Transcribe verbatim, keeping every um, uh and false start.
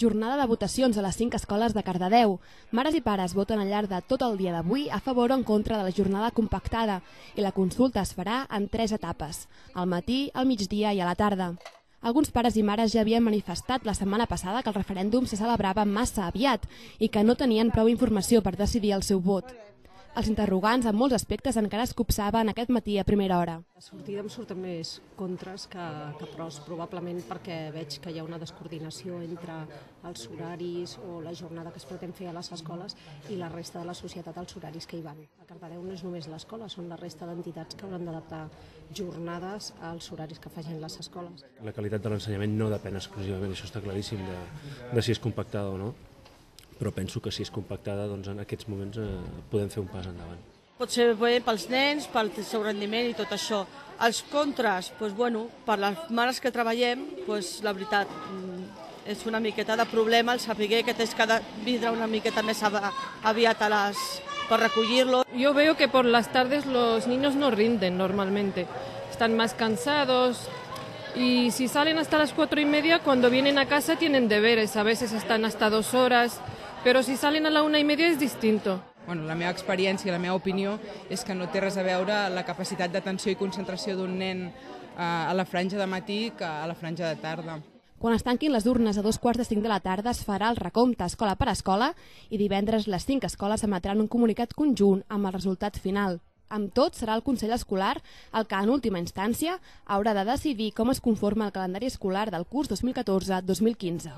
Jornada de votacions a les cinc escoles de Cardedeu. Mares i pares voten al llarg de tot el dia d'avui a favor o en contra de la jornada compactada i la consulta es farà en tres etapes, al matí, al migdia i a la tarda. Alguns pares i mares ja havien manifestat la setmana passada que el referèndum se celebrava massa aviat i que no tenien prou informació per decidir el seu vot. Els interrogants en molts aspectes encara es copsaven aquest matí a primera hora. La sortida em surten més contres que, que pros, probablement perquè veig que hi ha una descoordinació entre els horaris o la jornada que es pretén fer a les escoles i la resta de la societat als horaris que hi van. A Cardedeu no és només l'escola, són la resta d'entitats que hauran d'adaptar jornades als horaris que facin les escoles. La qualitat de l'ensenyament no depèn exclusivament, això està claríssim, de, de si és compactada o no. Però penso que si és compactada, doncs en aquests moments eh, podem fer un pas endavant. Pot ser bé pels nens, pel seu rendiment i tot això. Els contres, doncs, bueno, per les mares que treballem, doncs, la veritat, és una miqueta de problema el saber que tens que vindre una miqueta més aviat a les, per recollir-lo. Yo veo que por las tardes los niños no rinden normalmente, están más cansados. Y si salen hasta las cuatro y media, cuando vienen a casa tienen deberes, a veces están hasta dos horas, pero si salen a la una y media es distinto. Bueno, la meva experiència, la meva opinió, és que no té res a veure la capacitat d'atenció i concentració d'un nen a la franja de matí que a la franja de tarda. Quan es tanquin les urnes a dos quarts de cinc de la tarda es farà el recompte escola per escola i divendres les cinc escoles emetran un comunicat conjunt amb el resultat final. Amb tot, serà el Consell Escolar el que, en última instància, haurà de decidir com es conforma el calendari escolar del curs dos mil catorze dos mil quinze.